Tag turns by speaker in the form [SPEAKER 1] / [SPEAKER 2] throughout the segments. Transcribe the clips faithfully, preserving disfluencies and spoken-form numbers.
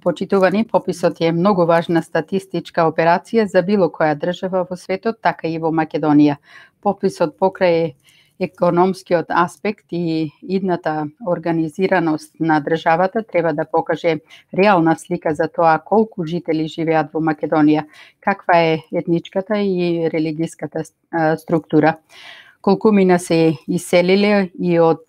[SPEAKER 1] Почитувани, пописот е многу важна статистичка операција за било која држава во светот, така и во Македонија. Пописот покрај економскиот аспект и идната организираност на државата треба да покаже реална слика за тоа колку жители живеат во Македонија, каква е етничката и религиската структура, колку мина се иселиле и од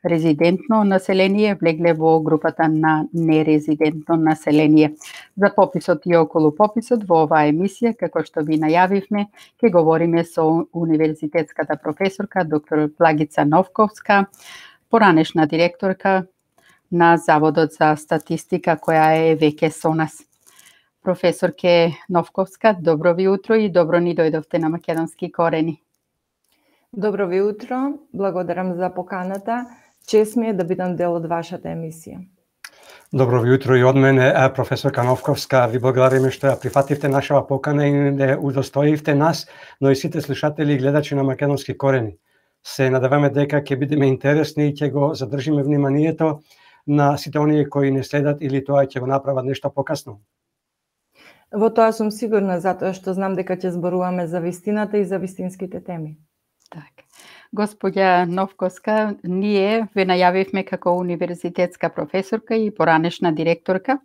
[SPEAKER 1] резидентно население влегле во групата на нерезидентно население. За пописот и околу пописот во оваа емисија, како што ви најавивме, ќе говориме со универзитетската професорка доктор Благица Новковска, поранешна директорка на Заводот за статистика, која е веќе со нас. Професорке Новковска, добро ви утро и добро ни дојдовте на Македонски корени.
[SPEAKER 2] Добро ви утро, благодарам за поканата. Чест ми е да бидам дел од вашата емисија.
[SPEAKER 3] Добро ви утро и од мене, професорка Новковска. Ви благодариме што ја прифативте нашава покана и не удостоивте нас, но и сите слушатели и гледачи на Македонски корени. Се надеваме дека ќе бидеме интересни и ќе го задржиме вниманието на сите оние кои не следат или тоа ќе го направат нешто покасно.
[SPEAKER 2] Во тоа сум сигурна, затоа што знам дека ќе зборуваме за вистината и за вистинските теми.
[SPEAKER 1] Так. Господја Новковска, ние ве најавивме како универзитетска професорка и поранешна директорка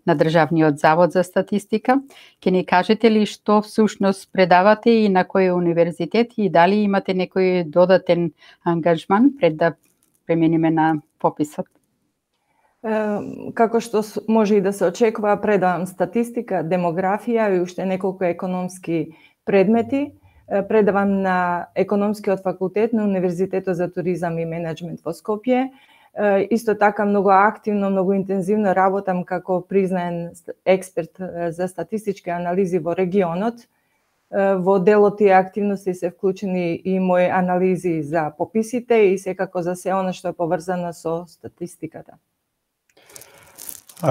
[SPEAKER 1] на Државниот завод за статистика. Ќе ни кажете ли што всушност предавате и на кој универзитет и дали имате некој додатен ангажман пред да преминиме на пописот?
[SPEAKER 2] Како што може и да се очекува, предавам статистика, демографија и уште неколку економски предмети. Предавам на Економскиот факултет на Универзитетот за туризам и менеджмент во Скопје. Исто така многу активно, многу интензивно работам како признаен експерт за статистички анализи во регионот. Во дел од тие активности се вклучени и мои анализи за пописите и секако за се она што е поврзано со статистиката.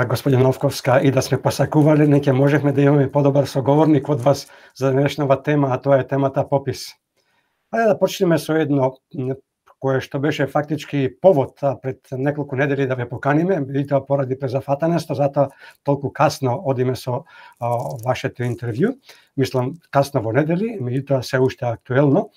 [SPEAKER 3] Господин Новковска, и да сме посакували, не ќе можевме да имаме подобар соговорник од вас за денешнава тема, а тоа е темата попис. Ајде да почнеме со едно кое што беше фактички повод пред неколку недели да ве поканиме, и тоа поради презафатаност, затоа толку касно одиме со а, вашето интервју. Мислам касно во недели, меѓутоа се уште актуелно.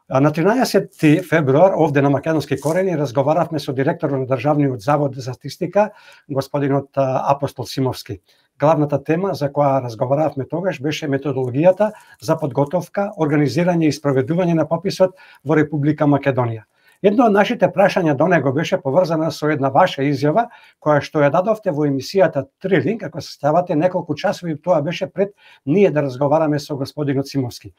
[SPEAKER 3] На тринаесети февруар овде на Македонски корени разговаравме со директорот на Државниот завод за статистика, господинот Апостол Симовски. Главната тема за која разговаравме тогаш беше методологијата за подготовка, организирање и спроведување на пописот во Република Македонија. Едно од нашите прашања до него беше поврзана со една ваша изјава, која што ја дадовте во емисијата Трилинг, ако се ставате неколку часови, тоа беше пред ние да разговараме со господинот Симовски.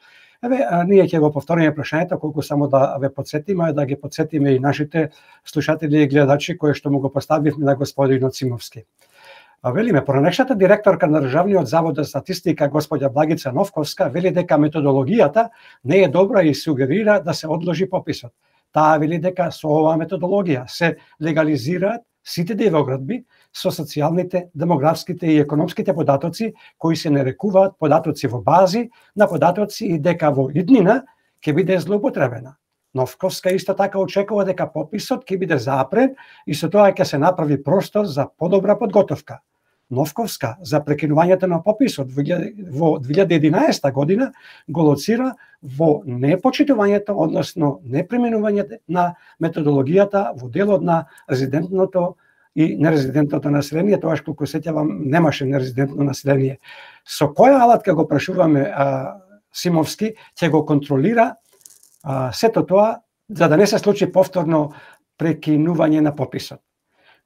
[SPEAKER 3] Еве, ние ќе го повториме прашањето, колку само да ве подсетиме, да ги подсетиме и нашите слушатели и гледачи кои што му го поставивме на господинот Симовски. А велиме, поранешната директорка на Државниот завод за статистика, господја Благица Новковска, вели дека методологијата не е добра и сугерира да се одложи пописот. Таа вели дека со оваа методологија се легализираат сите девоградби со социјалните, демографските и економските податоци кои се нарекуваат податоци во бази на податоци и дека во иднина ќе биде злоупотребена. Новковска исто така очекува дека пописот ќе биде запрен и со тоа ќе се направи простор за подобра подготовка. Новковска за прекинувањето на пописот во две илјади и единаесета година го лоцира во непочитувањето, односно неприменувањето на методологијата во делот на резидентното и нерезидентното население, тоаш колку сеќавам немаше нерезидентно население. Со која алатка го прашуваме а, Симовски ќе го контролира а, сето тоа за да не се случи повторно прекинување на пописот.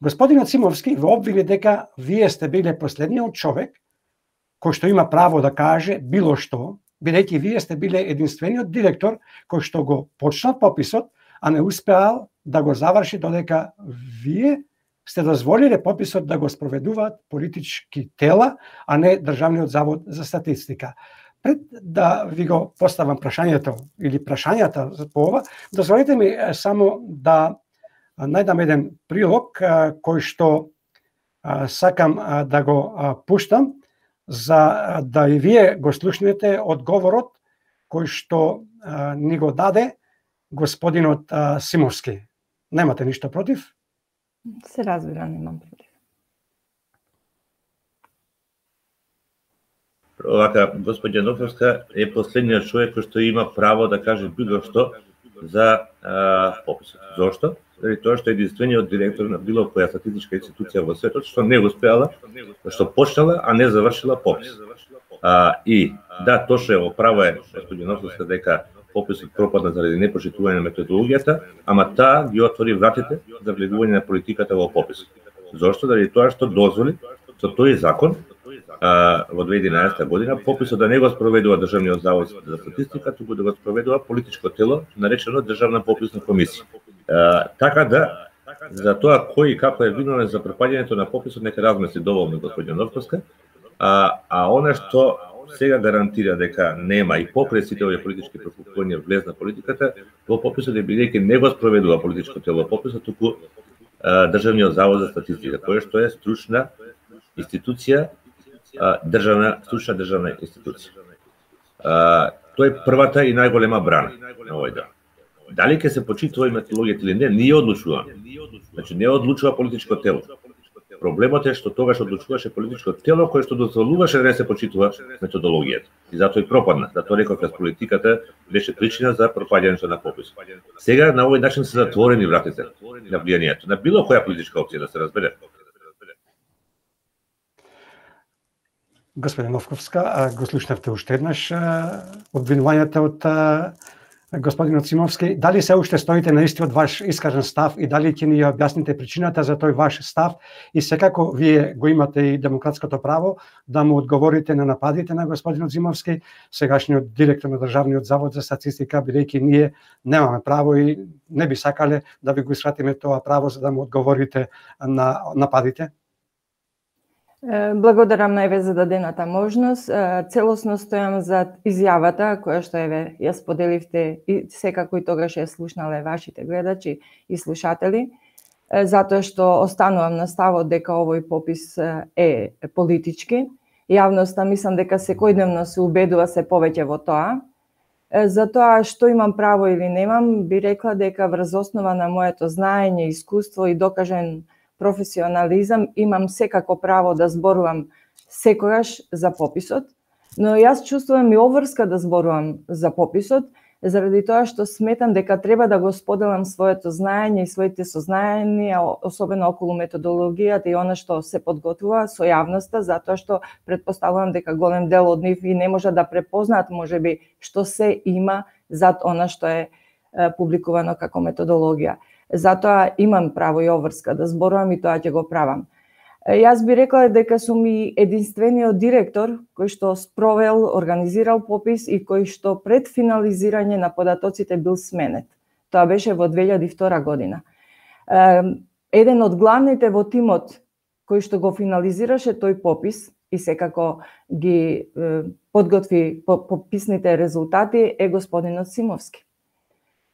[SPEAKER 3] Господинот Симовски во обвини дека вие сте биле последниот човек кој што има право да каже било што, бидејќи вие сте биле единствениот директор кој што го почнал пописот, а не успеал да го заврши додека вие сте дозволиле пописот да го спроведуваат политички тела, а не Државниот завод за статистика. Пред да ви го поставам прашањето или прашањата по ова, дозволете ми само да најдам еден прилог кој што сакам да го пуштам за да и вие го слушнете одговорот кој што ни го даде господинот Симовски. Немате ништо против?
[SPEAKER 2] Се разбира, немам против.
[SPEAKER 4] Вака, господја Нофовска е последниот човек кој што има право да каже било што за а, пописот. Зошто? Заради тоа што е единствениот директор на било која статистичка институција во светот што не успеала, што почнала, а не завршила попис. А, и да, точно е, оправа е господја Нофовска дека пописот пропадна заради непочитување на методологијата, ама таа ги отвори вратите за влегување на политиката во пописот. Зошто? Заради тоа што дозволи со тој закон а, во две илјади и единаесета година пописот да не го спроведува Државниот завод за статистика, туку да го спроведува политичко тело наречено Државна пописна комисија. А, така да за тоа кој и како е виновен за пропаѓањето на пописот нека размисли доволно господја Нофовска, а, а она што сега гарантира дека нема и покрај сите овие политички прокупувања влез на политиката, во пописот е бидејќи не го спроведува политичко тело пописот, туку а, Државниот завод за статистика, кој што е стручна институција, а, државна стручна државна институција. А, тоа е првата и најголема брана на овој дел. Дали ќе се почитува методологијата или не, ние одлучуваме. Значи не одлучува политичко тело. Проблемот е што тогаш одлучуваше политичко тело кое што дозволуваше да не се почитува методологијата. И затоа и пропадна. Затоа реков дека политиката беше причина за пропаѓањето на попис. Сега на овој начин се затворени вратите на влијанието на било која политичка опција, да се разбере.
[SPEAKER 3] Господин Нофовска, го слушнавте уште еднаш обвинувањата од господинот Симовски. Дали се уште стоите на истиот ваш искажен став и дали ќе ни ја објасните причината за тој ваш став и секако вие го имате и демократското право да му одговорите на нападите на господинот Симовски, сегашниот директор на Државниот завод за статистика, бидејќи ние немаме право и не би сакале да ви го искратиме тоа право за да му одговорите на нападите?
[SPEAKER 2] Благодарам најве за дадената можност. Целосно стојам за изјавата која што еве ја споделивте и секако и тогаш ја слушнале вашите гледачи и слушатели, затоа што останувам на ставот дека овој попис е политички. Јавноста мислам дека секојдневно се убедува се повеќе во тоа. За тоа што имам право или немам, би рекла дека врз основа на моето знаење, искуство и докажен професионализам имам секако право да зборувам секогаш за пописот, но јас чувствувам и обврска да зборувам за пописот, заради тоа што сметам дека треба да го споделам своето знаење и своите сознања, особено околу методологијата и она што се подготвува со јавноста, затоа што претпоставувам дека голем дел од нив и не може да препознаат можеби што се има зад она што е публикувано како методологија. Затоа имам право и обврска да зборувам и тоа ќе го правам. Јас би рекла дека сум и единствениот директор кој што спровел, организирал попис и кој што пред финализирање на податоците бил сменет. Тоа беше во две илјади и втора година. Еден од главните во тимот кој што го финализираше тој попис и секако ги подготви пописните резултати е господинот Симовски.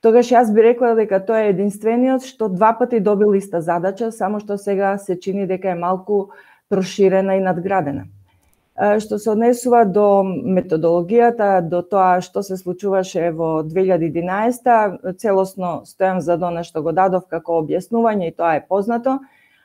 [SPEAKER 2] Тогаш јас би рекла дека тоа е единствениот што два пати добил иста задача, само што сега се чини дека е малку проширена и надградена. Што се однесува до методологијата, до тоа што се случуваше во две илјади и единаесета, целосно стојам за она што го дадов како објаснување и тоа е познато,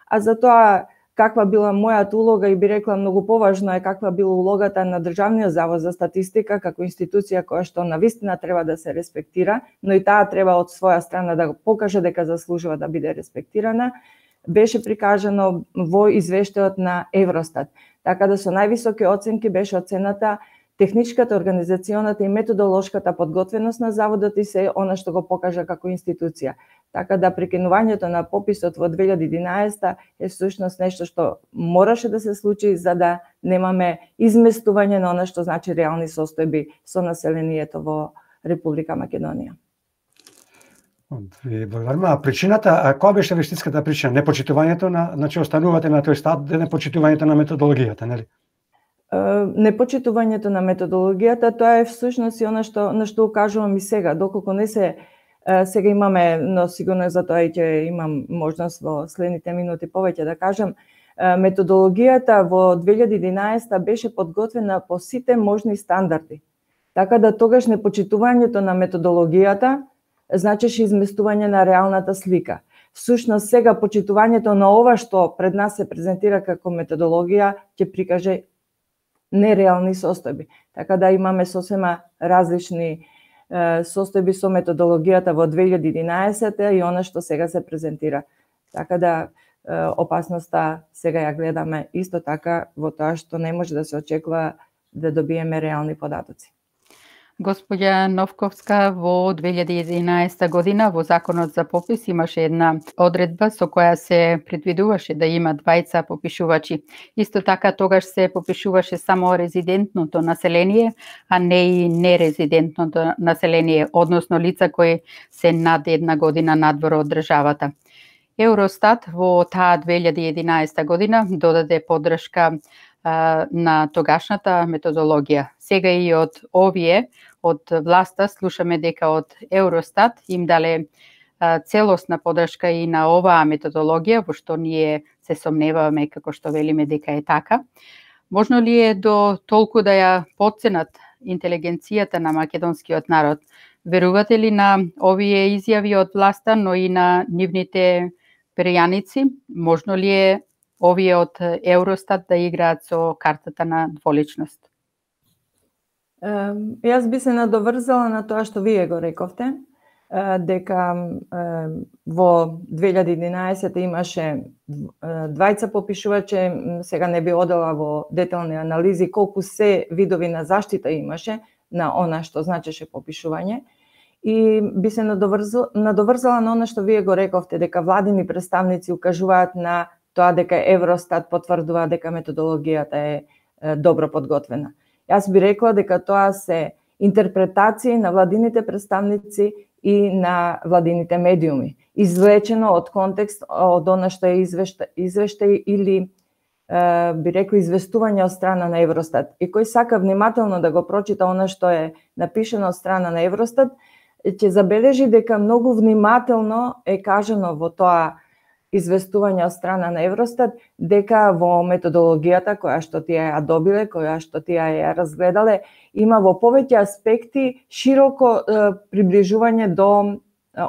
[SPEAKER 2] а за тоа каква била мојата улога и би рекла многу поважно е каква била улогата на Државниот завод за статистика како институција која што навистина треба да се респектира, но и таа треба од своја страна да го покаже дека заслужува да биде респектирана, беше прикажано во извештајот на Евростат. Така да со највисоки оценки беше оцената техничката, организационата и методолошката подготвеност на заводот и се она што го покажа како институција. Така да прекинувањето на пописот во две илјади и единаесета е всушност нешто што мораше да се случи за да немаме изместување на она што значи реални состојби со населението во Република Македонија.
[SPEAKER 3] Ви благодарам. А причината, а која беше вештинската причина? Непочитувањето на, значи останувате на тој стат, непочитувањето на методологијата, нели?
[SPEAKER 2] Непочитувањето на методологијата, тоа е всушност и она што на што укажувам и сега, доколку не се сега имаме, но сигурно за тоа и ќе имам можност во следните минути повеќе да кажам, методологијата во две илјади и единаесета беше подготвена по сите можни стандарди. Така да тогаш непочитувањето на методологијата значеше изместување на реалната слика. Всушност сега почитувањето на ова што пред нас се презентира како методологија ќе прикаже нереални состојби. Така да имаме сосема различни состојби со методологијата во две илјади и единаесетта и она што сега се презентира. Така да опасноста сега ја гледаме исто така во тоа што не може да се очекува да добиеме реални податоци.
[SPEAKER 1] Господја Новковска, во две илјади и единаесетта година во Законот за попис имаше една одредба со која се предвидуваше да има двајца попишувачи. Исто така тогаш се попишуваше само резидентното население, а не и нерезидентното население, односно лица кои се над една година надвор од државата. Евростат во таа две илјади и единаесетта година додаде поддршка а, на тогашната методологија. Сега и од овие, од власта, слушаме дека од Евростат им дале а, целосна поддршка и на оваа методологија, во што ние се сомневаме, како што велиме дека е така. Можно ли е до толку да ја потценат интелигенцијата на македонскиот народ? Верувате ли на овие изјави од власта, но и на нивните перјаници? Можно ли е овие од Евростат да играат со картата на дволичност?
[SPEAKER 2] Јас би се надоврзала на тоа што вие го рековте, дека во две илјади и единаесетта имаше двајца попишувачи, сега не би одела во детални анализи колку се видови на заштита имаше на она што значеше попишување. И би се надоврзала, надоврзала на она што вие го рековте, дека владини представници укажуваат на тоа дека Евростат потврдува дека методологијата е добро подготвена. Јас би рекла дека тоа се интерпретации на владините представници и на владините медиуми, извлечено од контекст од она што е извештај, извештај или е, би рекла известување од страна на Евростат. И кој сака внимателно да го прочита она што е напишено од страна на Евростат, ќе забележи дека многу внимателно е кажано во тоа известување од страна на Евростат дека во методологијата која што тие ја добиле, која што тие ја разгледале, има во повеќе аспекти широко е, приближување до е,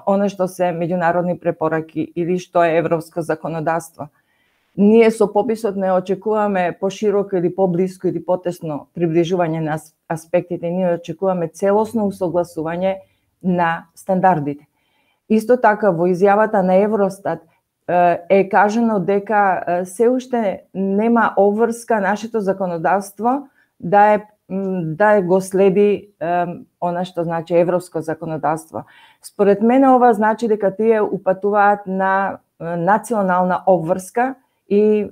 [SPEAKER 2] она што се меѓународни препораки или што е европско законодавство. Ние со пописот не очекуваме пошироко или поблиско или потесно приближување на аспектите, ние очекуваме целосно усогласување на стандардите. Исто така во изјавата на Евростат е кажано дека се уште нема обврска нашето законодавство да е да го следи она што значи европско законодавство. Според мене ова значи дека тие упатуваат на национална обврска и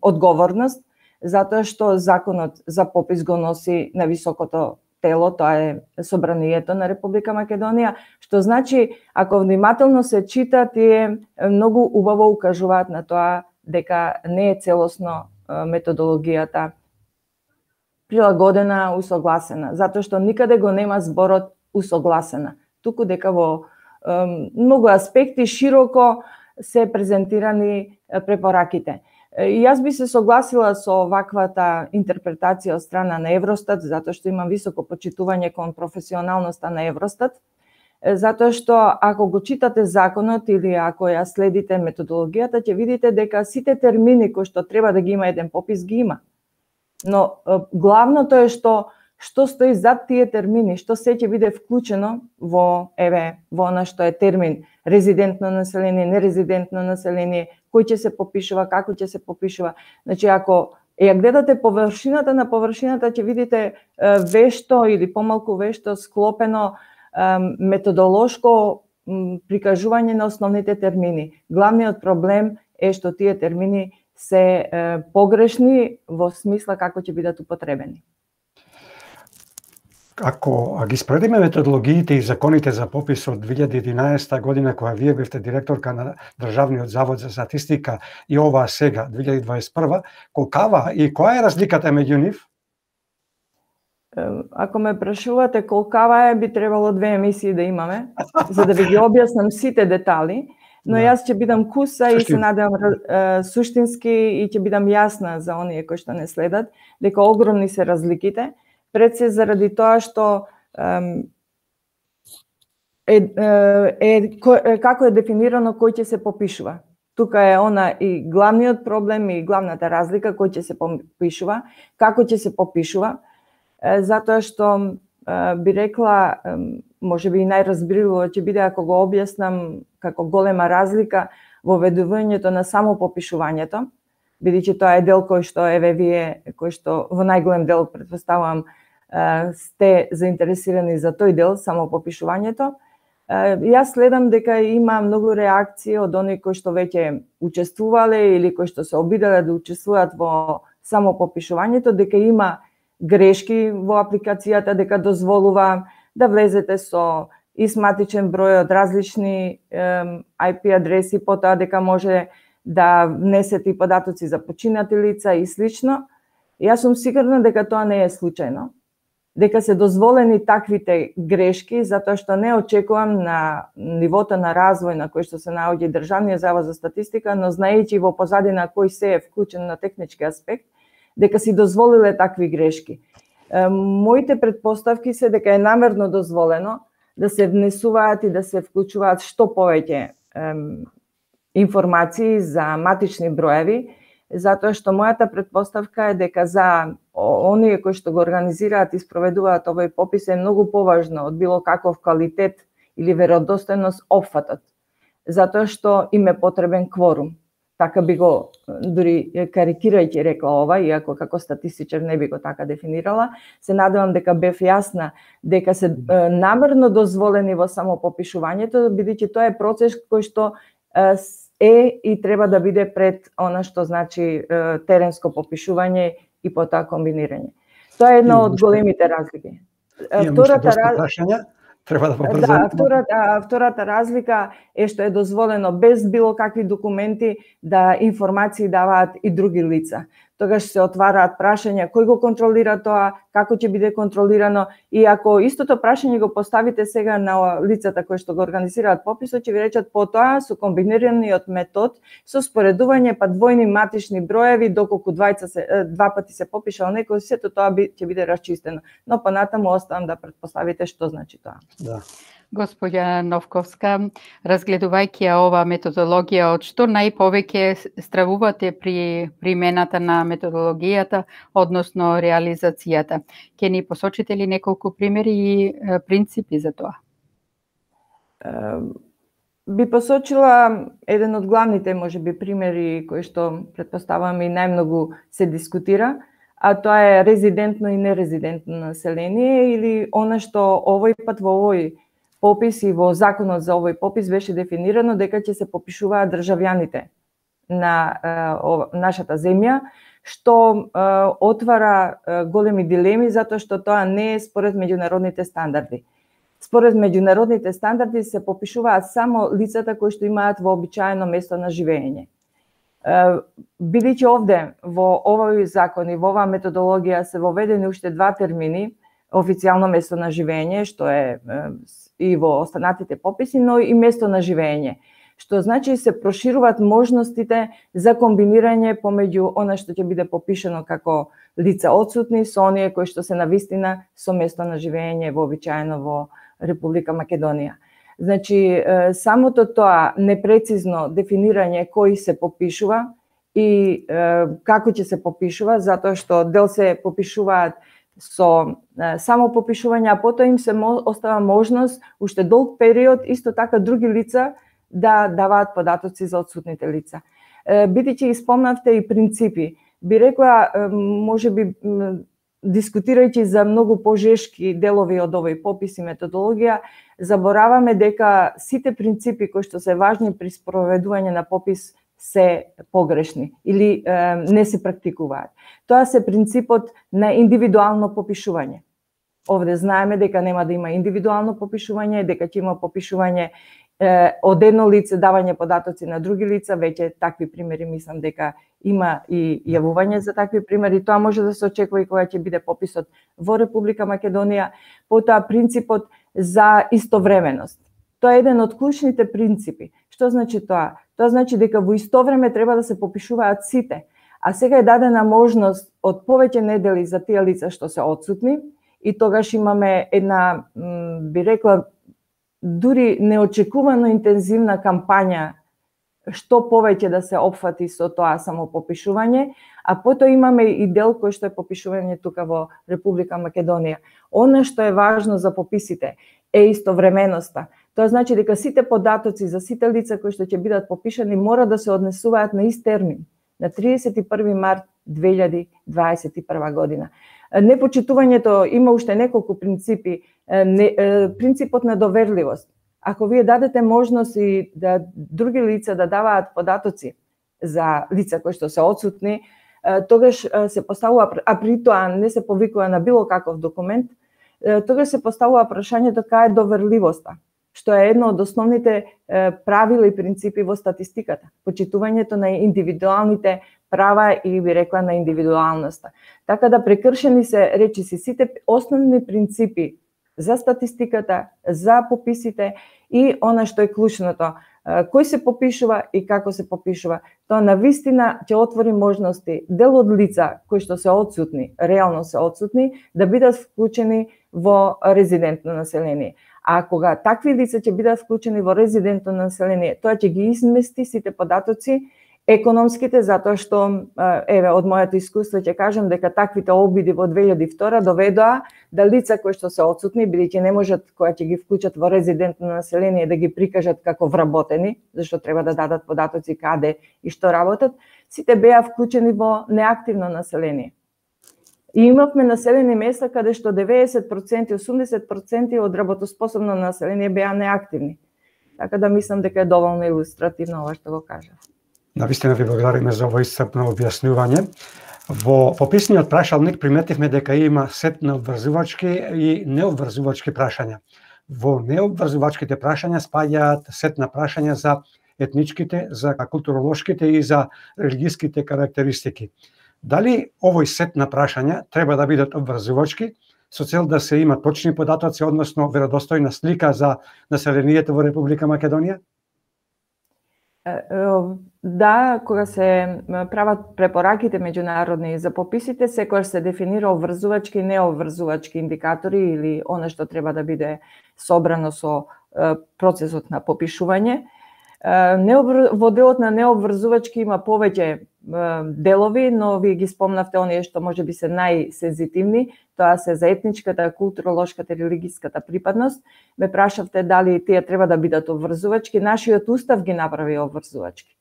[SPEAKER 2] одговорност, затоа што законот за попис го носи на високото тело, тоа е Собранието на Република Македонија, што значи, ако внимателно се чита, тие многу убаво укажуваат на тоа дека не е целосно методологијата прилагодена, усогласена, затоа што никаде го нема зборот усогласена, туку дека во многу аспекти широко се презентирани препораките. И јас би се согласила со ваквата интерпретација од страна на Евростат, затоа што имам високо почитување кон професионалноста на Евростат, затоа што ако го читате законот или ако ја следите методологијата, ќе видите дека сите термини кои што треба да ги има еден попис ги има. Но главното е што што стои зад тие термини, што се ќе биде вклучено во еве во она што е термин резидентно население, нерезидентно население, кој ќе се попишува, како ќе се попишува. Значи, ако ја гледате површината на површината, ќе видите вешто или помалку вешто склопено методолошко прикажување на основните термини. Главниот проблем е што тие термини се погрешни во смисла како ќе бидат употребени.
[SPEAKER 3] Ако ги споредиме методологиите и законите за попис од две илјади и единаесетта година, која вие бевте директорка на Државниот завод за статистика, и оваа сега, две илјади дваесет и прва, колкава и која е разликата меѓу нив?
[SPEAKER 2] Ако ме прашувате колкава е, би требало две емисии да имаме, за да ви ги објаснам сите детали, но јас ќе бидам куса и се надевам суштински и ќе бидам јасна за оние кои што не следат, дека огромни се разликите. Пред се заради тоа што е, е, е, е како е дефинирано кој ќе се попишува. тука е она и главниот проблем и главната разлика кој ќе се попишува, како ќе се попишува, затоа што би рекла, можеби и најразбирливо ќе биде ако го објаснам како голема разлика во ведувањето на само попишувањето, бидејќи тоа е дел кој што еве вие, кој што во најголем дел претпоставувам сте заинтересирани за тој дел, само попишувањето. Јас следам дека има многу реакции од оние кои што веќе учествувале или кои што се обиделе да учествуваат во само попишувањето, дека има грешки во апликацијата, дека дозволува да влезете со истматичен број од различни ај пи адреси, потоа дека може да внесете и податоци за починати лица и слично. Јас сум сигурна дека тоа не е случајно, дека се дозволени таквите грешки, затоа што не очекувам на нивото на развој на кој што се наоѓа Државниот завод за статистика, но знаејќи во позадина кој се е вклучен на технички аспект, дека си дозволиле такви грешки. Моите претпоставки се дека е намерно дозволено да се внесуваат и да се вклучуваат што повеќе информации за матични броеви, затоа што мојата претпоставка е дека за оние кои што го организираат и спроведуваат овој попис е многу поважно од било каков квалитет или веродостојност опфатот, затоа што им е потребен кворум. Така би го, дури карикирајќи рекла ова, иако како статистичар не би го така дефинирала, се надевам дека бев јасна дека се намерно дозволени во само попишувањето, бидејќи тоа е процес кој што е и треба да биде пред она што значи теренско попишување и потоа комбинирање. Тоа е една од големите разлики.
[SPEAKER 3] Втората разлика треба да побрзаме.
[SPEAKER 2] Да, втората, втората разлика е што е дозволено без било какви документи да информации даваат и други лица. Тогаш се отвараат прашања кој го контролира тоа, како ќе биде контролирано, и ако истото прашање го поставите сега на лицата кои што го организираат пописот, ќе ви речат потоа со комбинираниот метод со споредување па двојни матични броеви доколку двајца се два пати се попишал некој, сето тоа би, ќе биде расчистено. Но понатаму оставам да претпоставите што значи тоа.
[SPEAKER 3] Да.
[SPEAKER 1] Господја Новковска, разгледувајќи ја ова методологија, од што најповеќе стравувате при примената на методологијата, односно реализацијата? Ќе ни посочите ли неколку примери и принципи за тоа?
[SPEAKER 2] Би посочила еден од главните, можеби, примери кои што претпоставам и најмногу се дискутира, а тоа е резидентно и нерезидентно население, или она што овој пат во овој попис и во законот за овој попис беше дефинирано дека ќе се попишуваат државјаните на е, нашата земја, што е, отвара е, големи дилеми, затоа што тоа не е според меѓународните стандарди. Според меѓународните стандарди се попишуваат само лицата кои што имаат вообичаено место на живење. Бидејќи овде во овој закон и во оваа методологија се воведени уште два термини, официјално место на живење, што е и во останатите пописи, но и место на живење, што значи се прошируваат можностите за комбинирање помеѓу она што ќе биде попишано како лица отсутни со оние кои што се навистина со место на живење вообичаено во Република Македонија. Значи, самото тоа непрецизно дефинирање кој се попишува и како ќе се попишува, затоа што дел се попишуваат со само попишување, а потоа им се остава можност уште долг период исто така други лица да даваат податоци за отсутните лица. Бидејќи испомнавте и принципи, би рекла, можеби дискутирајќи за многу пожешки делови од овој попис и методологија, забораваме дека сите принципи кои што се важни при спроведување на попис се погрешни или е, не се практикуваат. Тоа се принципот на индивидуално попишување. Овде знаеме дека нема да има индивидуално попишување, дека ќе има попишување е, од едно лице, давање податоци на други лица, веќе такви примери мислам дека има и јавување за такви примери. Тоа може да се очекува и кога ќе биде пописот во Република Македонија. Потоа принципот за истовременост. Тоа е еден од клучните принципи. Што значи тоа? Тоа значи дека во исто време треба да се попишуваат сите, а сега е дадена можност од повеќе недели за тие лица што се отсутни, и тогаш имаме една, би рекла, дури неочекувано интензивна кампања што повеќе да се опфати со тоа само попишување, а потоа имаме и дел кој што е попишување тука во Република Македонија. Она што е важно за пописите е истовременоста. Тоа значи дека сите податоци за сите лица кои што ќе бидат попишани мора да се однесуваат на ист термин, на триесет и први март две илјади дваесет и прва година. Непочитувањето има уште неколку принципи. Принципот на доверливост. Ако вие дадете можност и да други лица да даваат податоци за лица кои што се отсутни, тогаш се поставува, а при тоа не се повикува на било каков документ, тогаш се поставува прашањето кај е доверливоста, што е едно од основните правила и принципи во статистиката. Почитувањето на индивидуалните права и би рекла на индивидуалноста. Така да прекршени се речиси сите основни принципи за статистиката, за пописите и она што е клучното, кој се попишува и како се попишува. Тоа навистина ќе отвори можности дел од лица кои што се отсутни, реално се отсутни, да бидат вклучени во резидентно население. А кога такви лица ќе бидат вклучени во резидентно население, тоа ќе ги измести сите податоци економските, затоа што, еве, од моето искуство ќе кажам дека таквите обиди во две илјади и втора доведоа да лица кои што се отсутни, бидејќи не можат кога ќе ги вклучат во резидентно население да ги прикажат како вработени, зашто треба да дадат податоци каде и што работат, сите беа вклучени во неактивно население. И имавме населени места каде што деветдесет проценти, осумдесет проценти од работоспособно население беа неактивни. Така да мислам дека е доволно илустративно ова што го кажав.
[SPEAKER 3] Навистина ви благодариме за ово исцрпно објаснување. Во пописниот прашалник приметивме дека има сет на обврзувачки и необврзувачки прашања. Во необврзувачките прашања спаѓаат сет на прашања за етничките, за културолошките и за религиските карактеристики. Дали овој сет на прашања треба да бидат обврзувачки со цел да се има точни податоци, односно веродостојна слика за населението во Република Македонија?
[SPEAKER 2] Да, кога се прават препораките меѓународни за пописите, секогаш се дефинира обврзувачки и необврзувачки индикатори или она што треба да биде собрано со процесот на попишување. Во делот на необврзувачки има повеќе делови, но вие ги спомнавте оние што може би се најсензитивни, тоа се за етничката, културолошката и религиската припадност. Ме прашавте дали тие треба да бидат обврзувачки, нашиот устав ги направи обврзувачки.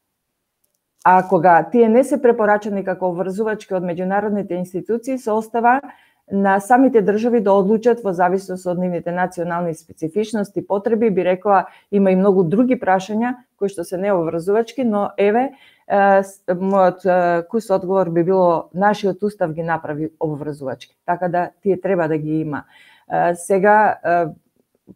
[SPEAKER 2] А кога тие не се препорачани како обврзувачки од меѓународните институции, се остава на самите држави да одлучат во зависност од нивните национални специфичности, потреби. Би рекла, има и многу други прашања кои што се необврзувачки, но еве, мојот кус одговор би било нашиот устав ги направи обврзувачки. Така да тие треба да ги има. Сега,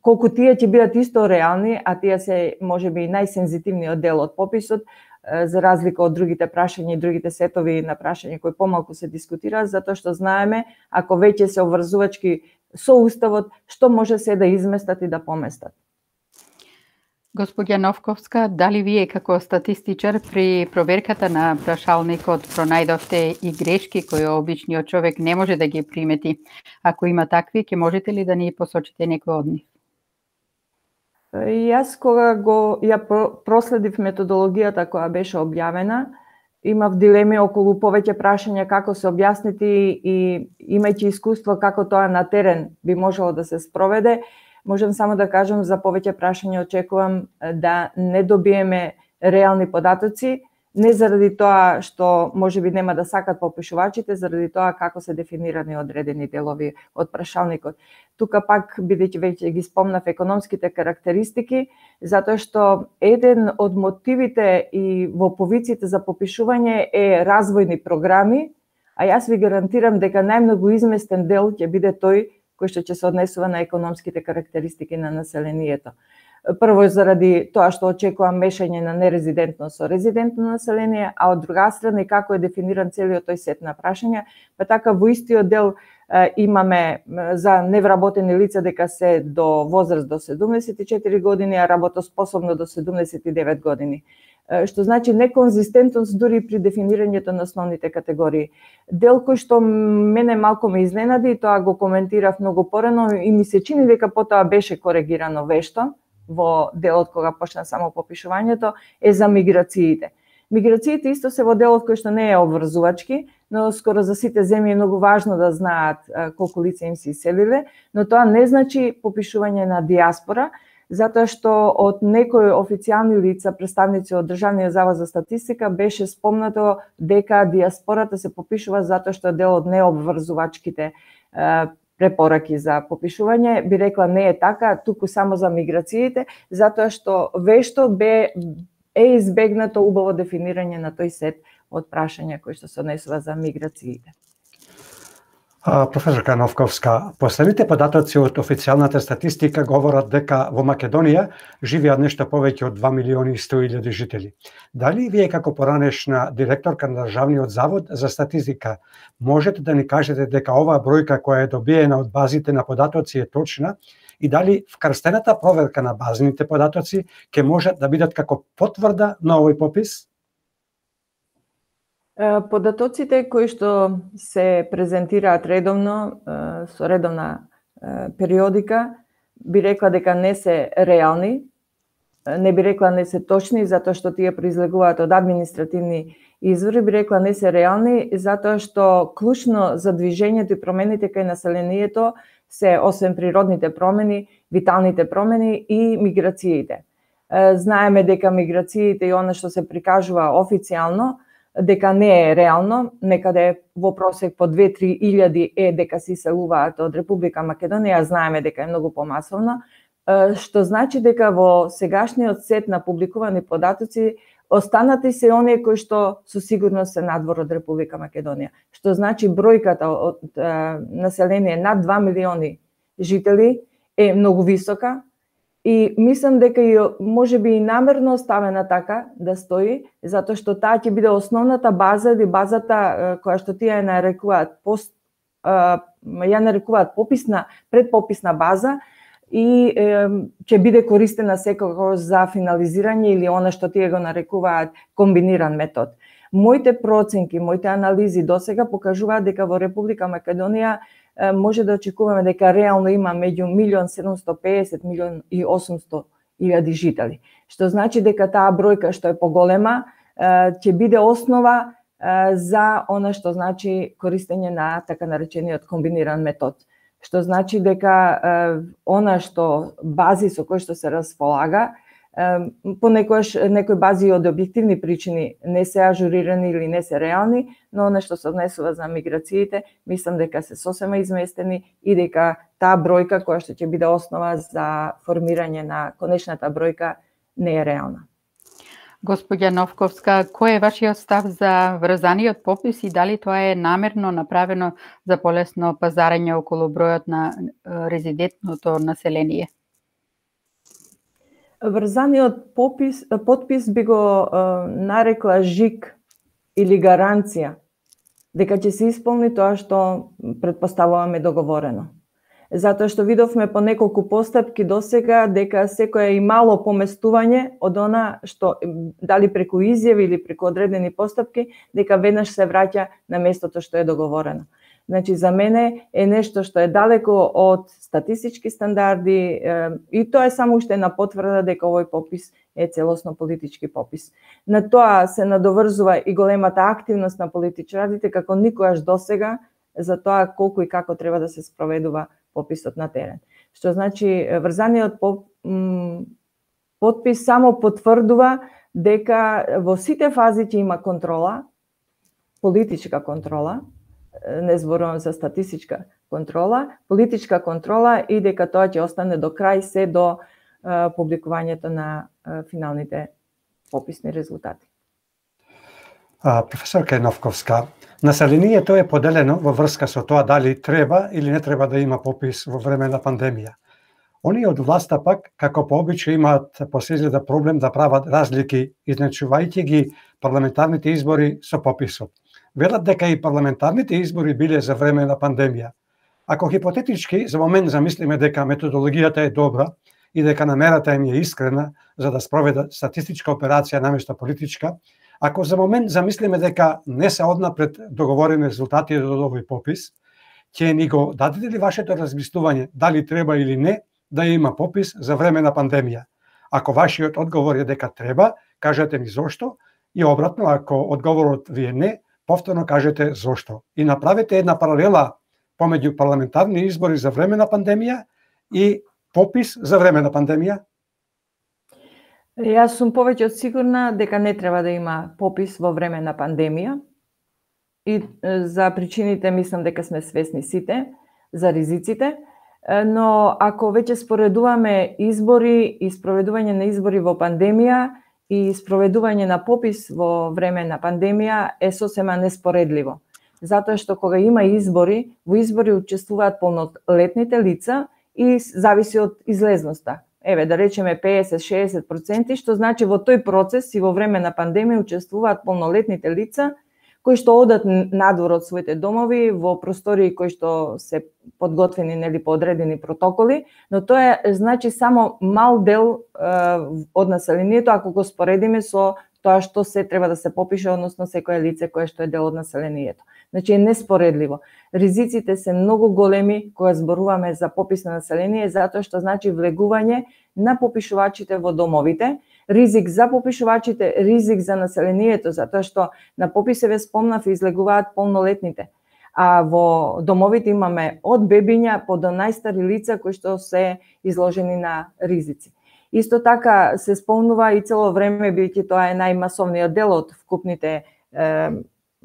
[SPEAKER 2] колку тие ќе бидат исто реални, а тие се можеби и најсензитивниот дел од пописот, за разлика од другите прашања и другите сетови на прашања кои помалку се дискутираат, затоа што знаеме, ако веќе се обврзувачки со уставот, што може се да изместат и да поместат.
[SPEAKER 1] Господја Новковска, дали вие како статистичар при проверката на прашалникот пронајдовте и грешки кои обичниот човек не може да ги примети? Ако има такви, ќе можете ли да ни посочите некој од нив?
[SPEAKER 2] Јас кога го ја проследив методологијата која беше објавена, имав дилеми околу повеќе прашања како се објаснити и имајќи искуство како тоа на терен би можело да се спроведе, можам само да кажам за повеќе прашања очекувам да не добиеме реални податоци, не заради тоа што можеби нема да сакат попишувачите, заради тоа како се дефинирани одредени делови од прашалникот. Тука пак, бидејќи веќе ги спомнав економските карактеристики, затоа што еден од мотивите и во повиците за попишување е развојни програми, а јас ви гарантирам дека најмногу изместен дел ќе биде тој кој што ќе се однесува на економските карактеристики на населението. Прво заради тоа што очекувам мешање на нерезидентно со резидентно население, а од друга страна и како е дефиниран целиот тој сет на прашања, па така во истиот дел е, имаме за невработени лица дека се до возраст до седумдесет и четири години, а работоспособно до седумдесет и девет години. Е, што значи неконзистентност дури при дефинирањето на основните категории. Дел кој што мене малку ме изненади, тоа го коментирав многу порано и ми се чини дека потоа беше коригирано вешто, во делот кога почна само попишувањето е за миграциите. Миграциите исто се во делот кој што не е обврзувачки, но скоро за сите земји е многу важно да знаат колку лица им се иселиле, но тоа не значи попишување на диаспора, затоа што од некои официјални лица, представници од Државниот завод за статистика, беше спомнато дека диаспората се попишува затоа што е дел од необврзувачките препораки за попишување. Би рекла не е така, туку само за миграциите, затоа што вешто бе е избегнато убаво дефинирање на тој сет од прашања кои што се однесува за миграциите.
[SPEAKER 3] Професорка Новковска, последните податоци од официјалната статистика говорат дека во Македонија живеат нешто повеќе од два милиони и сто илјади жители. Дали вие како поранешна директорка на Државниот завод за статистика можете да ни кажете дека оваа бројка која е добиена од базите на податоци е точна и дали вкрстената проверка на базните податоци ќе можат да бидат како потврда на овој попис?
[SPEAKER 2] Податоците кои што се презентираат редовно, со редовна периодика, би рекла дека не се реални, не би рекла не се точни, затоа што тие произлегуваат од административни извори, би рекла не се реални, затоа што клучно за движењето и промените кај населението се, освен природните промени, виталните промени и миграциите. Знаеме дека миграциите и она што се прикажува официјално, дека не е реално, некаде во просек по две-три илјади е дека се иселуваат од Република Македонија, знаеме дека е многу помасовно, што значи дека во сегашниот сет на публикувани податоци останати се оние кои што со сигурност се надвор од Република Македонија. Што значи бројката од население над два милиони жители е многу висока, и мислам дека и можеби и намерно оставена така да стои, затоа што таа ќе биде основната база или базата која што тие ја нарекуваат пост ја нарекуваат пописна предпописна база и ќе биде користена секогаш за финализирање или она што тие го нарекуваат комбиниран метод. Моите проценки, моите анализи досега покажуваат дека во Република Македонија може да очекуваме дека реално има меѓу милион седумсто песет, милион и осумсто илјади жители. Што значи дека таа бројка што е поголема ќе биде основа за она што значи користење на така наречениот комбиниран метод. Што значи дека она што бази со кои што се располага, понекогаш некои бази од објективни причини не се ажурирани или не се реални, но она што се однесува за миграциите, мислам дека се сосема изместени и дека таа бројка која што ќе биде основа за формирање на конечната бројка не е реална.
[SPEAKER 1] Господја Новковска, кој е вашиот став за врзаниот попис и дали тоа е намерно направено за полесно пазарење околу бројот на резидентното население?
[SPEAKER 2] Врзаниот попис, подпис би го е, нарекла жик или гаранција дека ќе се исполни тоа што предпоставуваме договорено. Затоа што видовме по неколку постапки досега дека секое и мало поместување од она што дали преку изјави или преку одредени постапки, дека веднаш се враќа на местото што е договорено. Значи, за мене е нешто што е далеко од статистички стандарди и тоа е само уште една потврда дека овој попис е целосно политички попис. На тоа се надоврзува и големата активност на политичарите како никогаш досега за тоа колку и како треба да се спроведува пописот на терен. Што значи врзаниот подпис само потврдува дека во сите фази ќе има контрола, политичка контрола, не зборувам за статистичка контрола, политичка контрола и дека тоа ќе остане до крај се до е, публикувањето на е, финалните пописни резултати.
[SPEAKER 3] А, професорка Новковска, населението е поделено во врска со тоа дали треба или не треба да има попис во време на пандемија. Оние од власта пак, како по обичај, имаат по се изгледа проблем да прават разлики, изначувајќи ги парламентарните избори со пописот. Велат дека и парламентарните избори биле за време на пандемија. Ако хипотетички за момент замислиме дека методологијата е добра и дека намерата им е искрена за да спроведат статистичка операција наместо политичка, ако за момент замислиме дека не се однапред договорени резултати од овој попис, ќе ни го дадете ли вашето размислување дали треба или не да има попис за време на пандемија? Ако вашиот одговор е дека треба, кажете ми зошто, и обратно, ако одговорот ви е не, повторно кажете зошто. И направете една паралела помеѓу парламентарни избори за време на пандемија и попис за време на пандемија.
[SPEAKER 2] Јас сум повеќе од сигурна дека не треба да има попис во време на пандемија. И за причините мислам дека сме свесни сите, за ризиците. Но ако веќе споредуваме избори и спроведување на избори во пандемија и спроведување на попис во време на пандемија е сосема неспоредливо. Затоа што кога има избори, во избори учествуваат полнолетните лица и зависи од излезноста. Еве, да речеме педесет до шеесет проценти, што значи во тој процес и во време на пандемија учествуваат полнолетните лица кои што одат надвор од своите домови во простории кои што се подготвени нели по одредени протоколи, но тоа е значи само мал дел е, од населението ако го споредиме со тоа што се треба да се попише, односно секое лице кое што е дел од населението. Значи е неспоредливо. Ризиците се многу големи кога зборуваме за попис на население, затоа што значи влегување на попишувачите во домовите, ризик за попишувачите, ризик за населението, затоа што на пописе ве спомнав излегуваат полнолетните. А во домовите имаме од бебиња по до најстари лица кои што се изложени на ризици. Исто така се спомнува и цело време, бидејќи тоа е најмасовниот дел од вкупните е,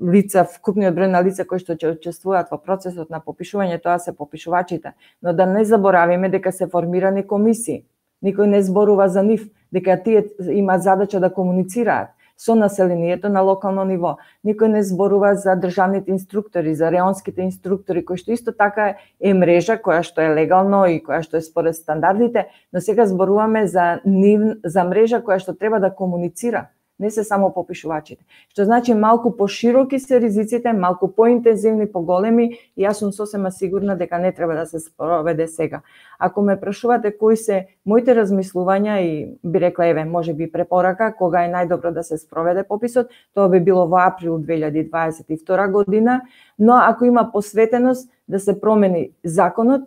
[SPEAKER 2] лица, вкупниот број на лица кои што ќе учествуваат во процесот на попишување, тоа се попишувачите. Но да не заборавиме дека се формирани комисии. Никој не зборува за нив, дека тие имаат задача да комуницираат со населението на локално ниво. Никој не зборува за државните инструктори, за реонските инструктори, кои што исто така е мрежа која што е легално и која што е според стандардите, но сега зборуваме за нив, за мрежа која што треба да комуницира, не се само попишувачите. Што значи малку пошироки се ризиците, малку поинтензивни, поголеми, и јас сум сосема сигурна дека не треба да се спроведе сега. Ако ме прашувате кои се моите размислувања и би рекла еве, можеби препорака кога е најдобро да се спроведе пописот, тоа би било во април две илјади дваесет и втора година, но ако има посветеност да се промени законот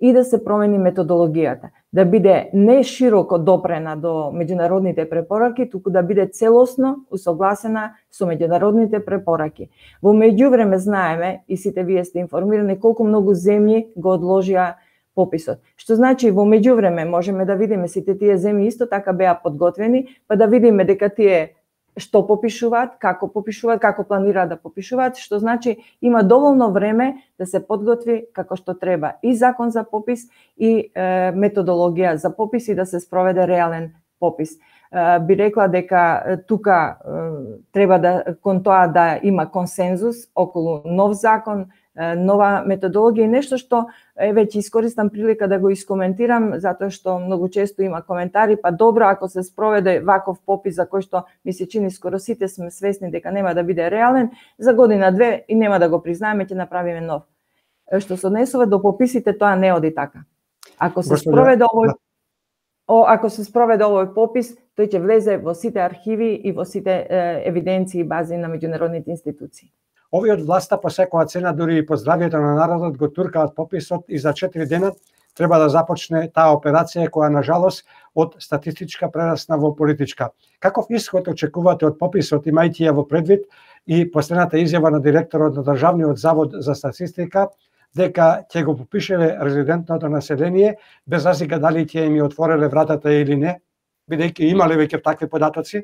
[SPEAKER 2] и да се промени методологијата, да биде не широко допрена до меѓународните препораки, туку да биде целосно усогласена со меѓународните препораки. Во меѓувреме знаеме, и сите вие сте информирани, колку многу земји го одложија пописот. Што значи во меѓувреме можеме да видиме сите тие земји исто така беа подготвени, па да видиме дека тие што попишуваат, како попишуваат, како планираат да попишуваат, што значи има доволно време да се подготви како што треба и закон за попис и е, методологија за попис и да се спроведе реален попис. Е, би рекла дека тука е, треба да кон тоа да има консензус околу нов закон, нова методологија и нешто што еве ќе искористам прилика да го искоментирам затоа што многу често има коментари, па добро ако се спроведе ваков попис за кој што ми се чини скоро сите сме свесни дека нема да биде реален, за година две и нема да го признаеме, ќе направиме нов. Што се однесува до пописите, тоа не оди така. Ако се спроведе овој О, ако се спроведе овој попис, тој ќе влезе во сите архиви и во сите е, евиденции и бази на меѓународните институции.
[SPEAKER 3] Овие од власта по секоја цена, дури и по здравието на народот, го туркаат пописот и за четири дена треба да започне таа операција која на жалост од статистичка прерасна во политичка. Каков исход очекувате од пописот, имајќи ја во предвид и последната изјава на директорот на Државниот завод за статистика дека ќе го попишеле резидентното население без разлика дали ќе им отвореле вратата или не, бидејќи имале веќе такви податоци?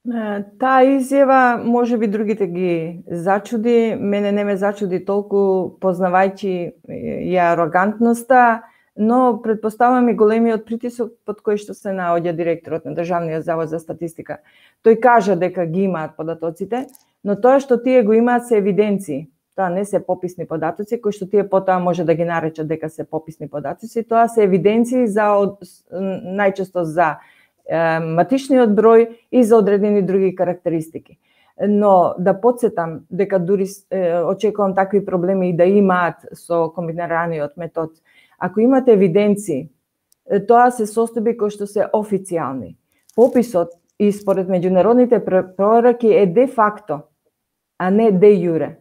[SPEAKER 2] Таа изјава може би другите ги зачуди, мене не ме зачуди толку познавајќи ја арогантноста, но предпоставам и големиот притисок под кој што се наоѓа директорот на Државниот завод за статистика. Тој кажа дека ги имаат податоците, но тоа што тие го имаат се евиденции. Тоа не се пописни податоци кои што тие потоа може да ги наречат дека се пописни податоци, тоа се евиденции за најчесто за матичниот број и за одредени други карактеристики. Но да подсетам дека дури е, очекувам такви проблеми и да имаат со комбинираниот метод. Ако имате евиденции, тоа се состојби кои што се официјални. Пописот и според меѓународните препораки е де факто, а не де јуре.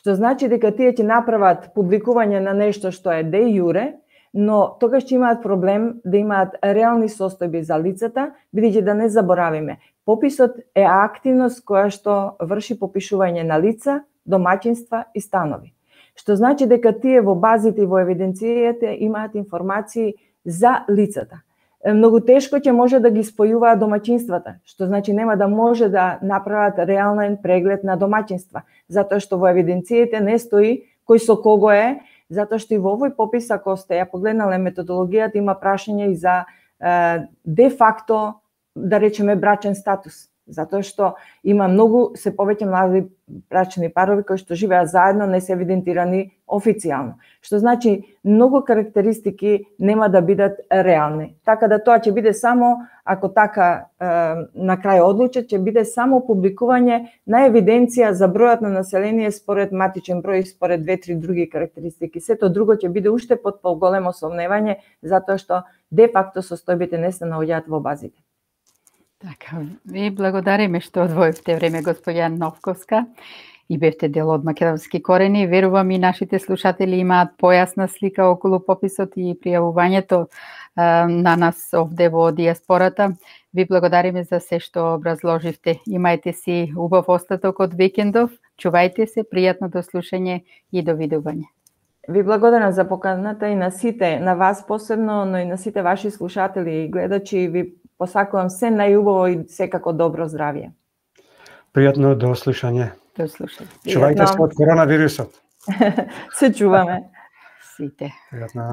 [SPEAKER 2] Што значи дека тие ќе направат публикување на нешто што е де јуре, но тогаш ќе имаат проблем да имаат реални состојби за лицата, бидејќи да не заборавиме, пописот е активност која што врши попишување на лица, домаќинства и станови. Што значи дека тие во базите и во евиденцијите имаат информации за лицата. Многу тешко ќе може да ги спојуваат домаќинствата, што значи нема да може да направат реален преглед на домаќинства, затоа што во евиденцијите не стои кој со кого е, затоа што и во овој попис, ако сте ја погледнале методологијата, има прашање и за е, де факто, да речеме, брачен статус. Затоа што има многу, се повеќе млади брачни парови кои што живеат заедно, не се евидентирани официјално. Што значи, многу карактеристики нема да бидат реални. Така да тоа ќе биде само, ако така е, на крај одлучат, ќе биде само публикување на евиденција за бројот на население според матичен број и според две-три други карактеристики. Сето друго ќе биде уште под поголемо сомневање, затоа што де факто состојбите не се наоѓаат во базите.
[SPEAKER 1] Така, ви благодариме што одвоивте време, господја Новковска, и бевте дел од македонски корени. Верувам и нашите слушатели имаат појасна слика околу пописот и пријавувањето а, на нас овде во диаспората. Ви благодариме за се што образложивте. Имајте си убав остаток од викендов, чувајте се, пријатно до слушање и до видување.
[SPEAKER 2] Ви благодарам за поканата и на сите, на вас посебно, но и на сите ваши слушатели и гледачи. Ви посакувам се најубаво и секако добро здравје.
[SPEAKER 3] Пријатно до слушање.
[SPEAKER 1] До слушање.
[SPEAKER 3] Чувајте се од коронавирусот.
[SPEAKER 2] Се чуваме.
[SPEAKER 1] Сите.
[SPEAKER 3] Пријатно.